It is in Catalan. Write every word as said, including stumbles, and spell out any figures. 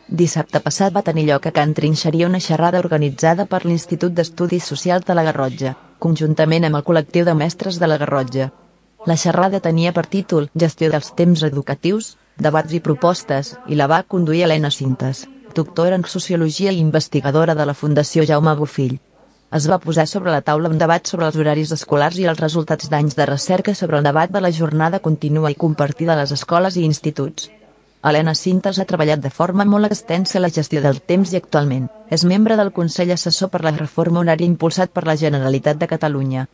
Dissabte passat va tenir lloc a Can Trinxeria una xerrada organitzada per l'Institut d'Estudis Socials de la Garrotxa, conjuntament amb el col·lectiu de mestres de la Garrotxa. La xerrada tenia per títol Gestió dels temps educatius, debats i propostes, i la va conduir Helena Cintas, doctora en Sociologia i investigadora de la Fundació Jaume Bofill. Es va posar sobre la taula un debat sobre els horaris escolars i els resultats d'anys de recerca sobre el debat de la jornada contínua i compartida a les escoles i instituts. Helena Cintas ha treballat de forma molt extensa la gestió del temps i actualment és membre del Consell Assessor per la Reforma Horària impulsat per la Generalitat de Catalunya.